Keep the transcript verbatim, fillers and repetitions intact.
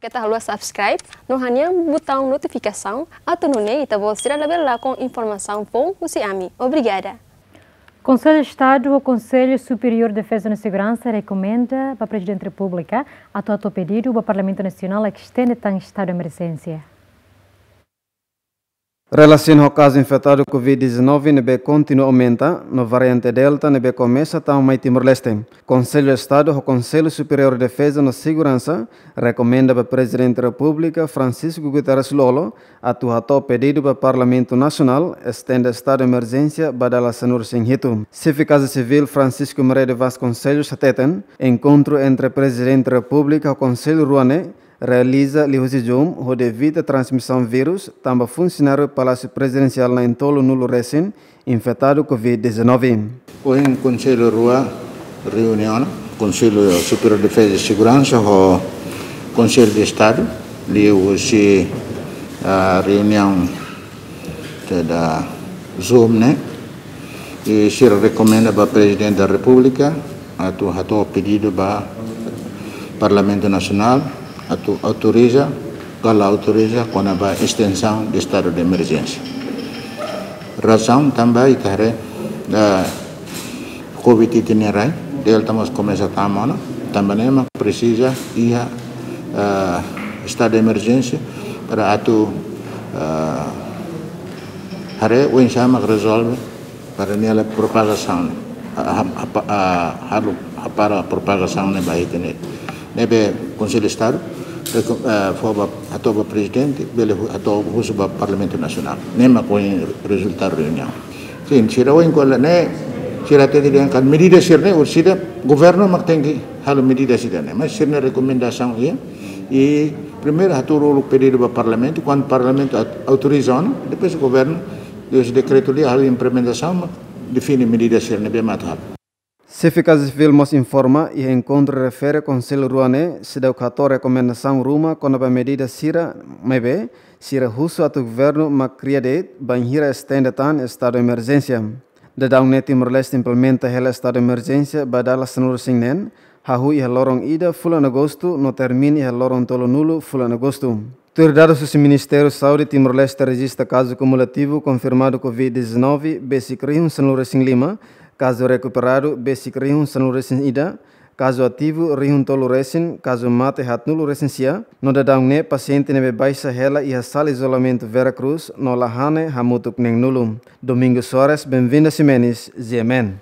Keta haluha subscribe no hanehan butaun notifikasaun atu nune'e ita-boot sira labele lakon informasaun foun husi ami. Obrigada. Konsellu Estadu ho Konsellu Superiór Defeza no Seguransa rekomenda ba Prezidente Repúblika atu hato'o pedidu ba Parlamentu Nasionál estende tan estadu emerjénsia. Relasiona ho kazu infetadu Covid dezanove ne'ebé kontinua aumenta, no variante Delta ne'ebé komesa tama mai Timor-Leste, Konsellu Estadu ho Konsellu Superiór Defeza no Seguransa rekomenda ba Prezidente Repúblika Francisco Guterres Lú-Olo atu hato'o pedidu ba Parlamentu Nasionál estende estadu emerjénsia ba dala sanulu-resin-hitu. Xefe Kaza Sivíl Francisco Maria de Vasconcelos hateten, enkontru entre Prezidente Repúblika ho Konsellu rua ne'e realiza liuhusi Zoom hodi evita transmisaun vírus, tanba funsionáriu Palásiu Prezidensiál na'in-tolunulu-resin infetadu Covid dezanove. Ohin Konsellu rua reuniona, Konsellu Superiór Defeza i Seguransa ho Konsellu de Estadu, liuhusi, ah, reuniaun da Zoom ne'e, i sira rekomenda ba Prezidente da Repúblika atu hato'o pedidu ba Parlamentu Nasionál atu autoriza, ka la autoriza, kona-ba estensaun de estadu de emerjénsia. Razaun tanba ita haree, eh, Covid ita-nia rai Delta mós komesa tama ona, tanba ne'e mak presiza iha, eh, estadu de emerjénsia para atu, eh, haree oinsá mak rezolve para nia la propagasaun, ah, ah, ah, halo, hapara propagasaun ne'e ba ita-nia. Ne'ebé Konsellu Estadu, eh, fó ba, hato'o ba Prezidente, bele hu-, hato'o husu ba Parlamentu Nasionál. Ne'e mak ohin rezultadu reuniaun. Sin, sira ohin ko'alia ne'e, sira hatete dehan katak medida sira-ne'e, orsida, governu mak tenke halo medida sira-ne'e. Mas sira-nia rekomendasaun iha, i primeiru hato'o uluk pedidu ba Parlamentu, kuandu Parlamentu aut-, autoriza ona, depois governu, depois dekretu lia halo implementasaun, mak define medida sira ne'ebé mak atu halo. Xefe Kaza Sivíl mós informa, iha enkontru refere Konsellu rua ne'e seidauk hato'o rekomendasaun ruma kona-ba medida sira, maibé sira husu atu governu mak kria de'it bainhira estende tan estadu emerjénsia. Daudaun ne'e Timor-Leste implementa hela estadu emerjénsia ba dala sanulu-resin-neen, hahú iha loron ida fulan Agostu no termina iha loron tolunulu fulan Agostu. Tuir dadus husi Ministériu Saúde, Timor-Leste rejista kazu kumulativu konfirmadu Covid dezanove besik rihun sanulu-resin-lima, kazu rekuperadu besik rihun sanulu-resin-ida, kazu ativu rihun tolu-resin, kazu mate haatnulu-resin-sia, no daudaun ne'e pasiente ne'ebé baixa hela iha sala izolamentu Vera Cruz no la hane hamutuk neen-nulu. Domingos Soares, Benvinda Ximenes, G M N.